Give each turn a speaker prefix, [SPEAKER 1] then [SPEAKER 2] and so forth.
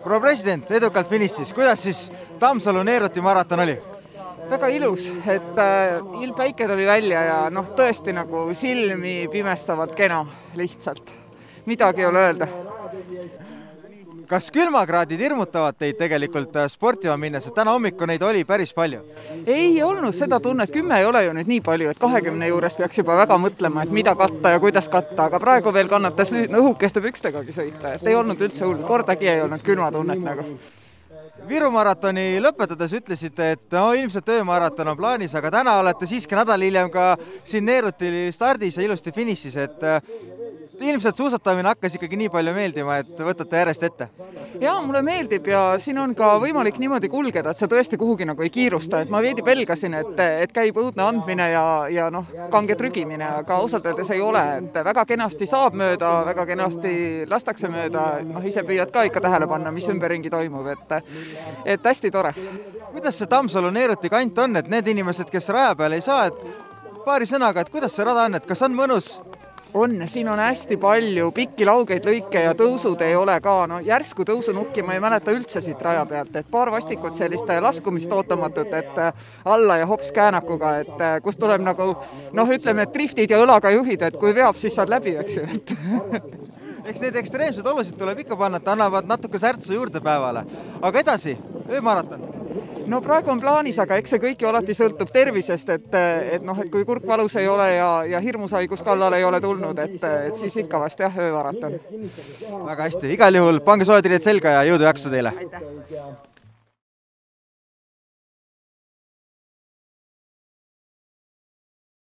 [SPEAKER 1] Proua president, edukalt finišis. Kuidas siis Tammsalu-Neeruti maraton oli?
[SPEAKER 2] Väga ilus, et ilmpäike tuli välja ja tõesti nagu silmi pimestavalt kena lihtsalt. Midagi ei ole öelda.
[SPEAKER 1] Kas külmakraadid hirmutavad teid tegelikult sportima minnes, et täna hommiku neid oli päris palju?
[SPEAKER 2] Ei olnud seda tunnet, 10 ei ole ju nüüd nii palju, et 20 juures peaks juba väga mõtlema, et mida katta ja kuidas katta, aga praegu veel kannatas õhukeste pükstegagi sõita, et ei olnud üldse hull, kordagi ei olnud külmatunnet nagu.
[SPEAKER 1] Viru maratoni lõpetades ütlesite, et ilmselt öömaraton on plaanis, aga täna olete siiski nädal hiljem ka siin Neeruti stardis ja ilusti finišis, et ilmselt suusatamine hakkas ikkagi nii palju meeldima, et võtate järjest ette.
[SPEAKER 2] Jaa, mulle meeldib ja siin on ka võimalik niimoodi kulgeda, et sa tõesti kuhugi nagu ei kiirusta, et ma veidi pelgasin, et käib õudne andmine ja kange trügimine, aga ausalt öeldes ei ole, et väga kenasti saab mööda, väga kenasti lastakse mööda, ise püüad ka ikka tähele panna, mis ümberringi toimub, et hästi tore.
[SPEAKER 1] Kuidas see Tammsalu-Neeruti kant on, et need inimesed, kes raja peal ei saa, et paari sõnaga, et kuidas see rada on, et kas on mõnus?
[SPEAKER 2] On, siin on hästi palju pikki laugeid lõike ja tõusud ei ole ka, järsku tõusunukki ma ei mäleta üldse siit raja pealt, et paar vastikut sellist laskumist ootamatut, et alla ja hops käänakuga, et kus tuleb nagu, ütleme, et driftid ja õlaga juhid, et kui veab, siis saad läbi, eks ju.
[SPEAKER 1] Eks need ekstreemsed olusid tuleb ikka panna, et annavad natuke särtsu juurde päevale. Aga edasi, öömaraton?
[SPEAKER 2] Praegu on plaanis, aga eks see kõik ju alati sõltub tervisest, et kui kurk valus ei ole ja hirmushaigus kallal ei ole tulnud, et siis ikka vast öömaraton.
[SPEAKER 1] Väga hästi, igal juhul pange soojad riied selga ja jõudu jaksu teile!
[SPEAKER 2] Aitäh!